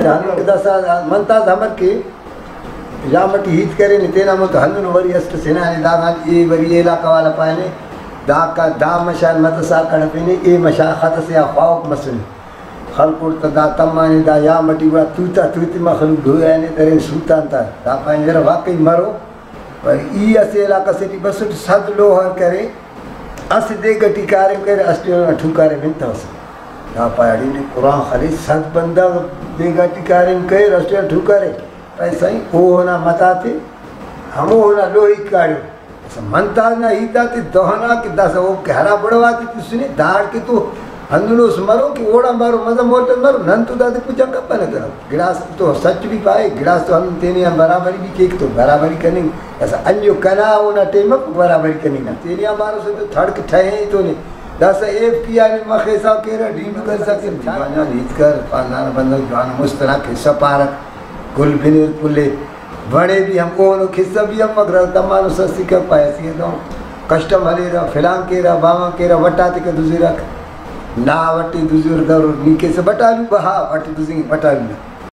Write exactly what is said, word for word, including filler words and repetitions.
ہندن کہ داسہ منتاز امر کہ یام ٹی ہیت کرینے تینا مون تو ہندن وری اسٹ سنانے داغان اے وری اے علاقہ والا پانے داکا دا مشان متسا کڑفینے اے مشان خط سے آ خواہوک مسنے۔ خلکوٹ تا دا تمانے دا یام ٹی گڑا توتا توتی مخلوق ڈویانے درین سوتان تا دا پانے یرا واقعی مرو۔ پر ای اسہ علاقہ سے ٹی بسٹ سد لوہر کرے، اسہ دیگ ٹی کاریم کرے، اسٹ اونا ٹھوکارے بنتوسہ۔ دا پاڑی نے قرآن خلیس سد بندغ دیگ ٹی کاریم کرے، اسٹ اونا ٹھوکارے۔ پائے سائیں، اوہنا متاتے ہموہنا لوہیک کاڑے۔ اسہ منتاز نا ہیت آتے دہنا کہ داسہ اوکے ہرا بڑواتے تسنے، داڑکے تو ہندنوس مرو کہ اوڑان بارو مزہ مولٹس مرو، نن تو دادے پوچھان کپنہ تہ۔ گڑاس تو سچ بھی پائے، گڑاس تو ہندن تینے آن برابری بھی کیک تو برابری کننگ۔ داسہ انجو کنا اونا ٹائم اف برابری کننگ نا۔ تینے آن بارو سے تو تھڑک ٹھہے تو نے۔ داسہ ایف پی آر مخ حساب کیرہ، ڈیڈو کرسا کہ جوان جوان ہیت کر، خاندان بندغ جوان مست نا قصہ پارک، گل بنیر کلے۔ وڑے بھی ہم اوہنو قصہ بھی ہم مگر دمانو سستی کر پائے سی دو کسٹم ہلیرہ، فلان کیرہ، باوان کیرہ، وٹاتے کہ دزرک۔ نا وٹی دزر در نی کیسہ بٹالو بہا، وٹی دزنگ بٹالو نا۔